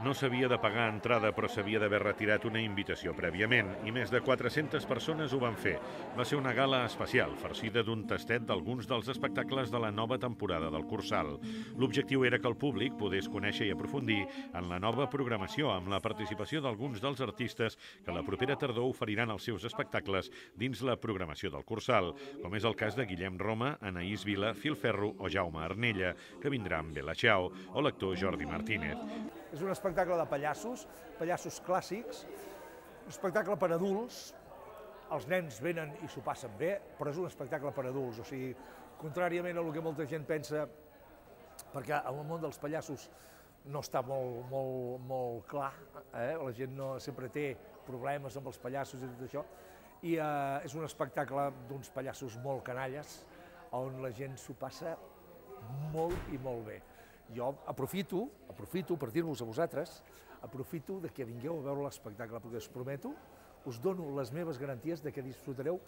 No s'havia de pagar entrada, però s'havia d'haver retirat una invitació prèviament, i més de 400 persones ho van fer. Va ser una gala especial, farcida d'un tastet d'alguns dels espectacles de la nova temporada del Cursal. L'objectiu era que el públic pogués conèixer i aprofundir en la nova programació, amb la participació d'alguns dels artistes que la propera tardor oferiran els seus espectacles dins la programació del Cursal, com és el cas de Guillem Roma, Anaïs Vila, Filferro o Jaume Arnella, que vindrà amb Bella Ciao, o l'actor Jordi Martínez. És un espectacle de pallassos clàssics, un espectacle per adults, els nens venen i s'ho passen bé, però és un espectacle per adults, o sigui, contràriament a el que molta gent pensa, perquè el món dels pallassos no està molt clar, la gent no sempre té problemes amb els pallassos i tot això, i és un espectacle d'uns pallassos molt canalles, on la gent s'ho passa molt i molt bé. Jo aprofito per dir-vos a vosaltres, aprofito de que vingueu a veure l'espectacle, perquè us prometo, us dono les meves garanties de que disfrutareu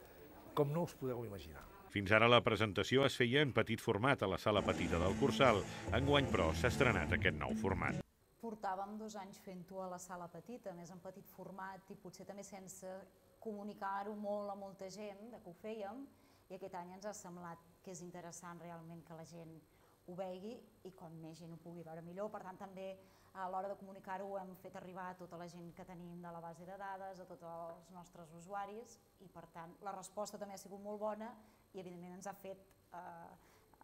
com no us podeu imaginar. Fins ara la presentació es feia en petit format a la sala petita del Cursal. Enguany, però, s'ha estrenat aquest nou format. Portàvem 2 anys fent-ho a la sala petita, més en petit format i potser també sense comunicar-ho molt a molta gent de que ho fèiem, i aquest any ens ha semblat que és interessant realment que la gent ho vegi i com més gent ho pugui veure millor. Per tant, també a l'hora de comunicar-ho hem fet arribar a tota la gent que tenim de la base de dades, a tots els nostres usuaris, i per tant la resposta també ha sigut molt bona i evidentment ens ha fet,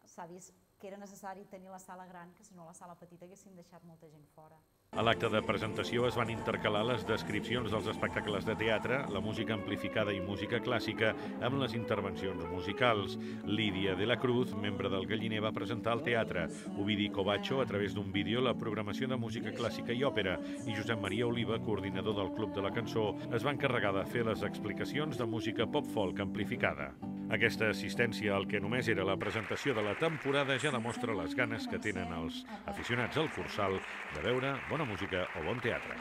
s'ha vist que era necessari tenir la sala gran, que si no a la sala petita haguéssim deixat molta gent fora. A l'acte de presentació es van intercalar les descripcions dels espectacles de teatre, la música amplificada i música clàssica amb les intervencions musicals. Lídia de la Cruz, membre del Galliner, va presentar el teatre. Ovidi Covacho, a través d'un vídeo, la programació de música clàssica i òpera. I Josep Maria Oliva, coordinador del Club de la Cançó, es va encarregar de fer les explicacions de música pop-folk amplificada. Aquesta assistència al que només era la presentació de la temporada ja demostra les ganes que tenen els aficionats al Cursal de veure bona música o bon teatre.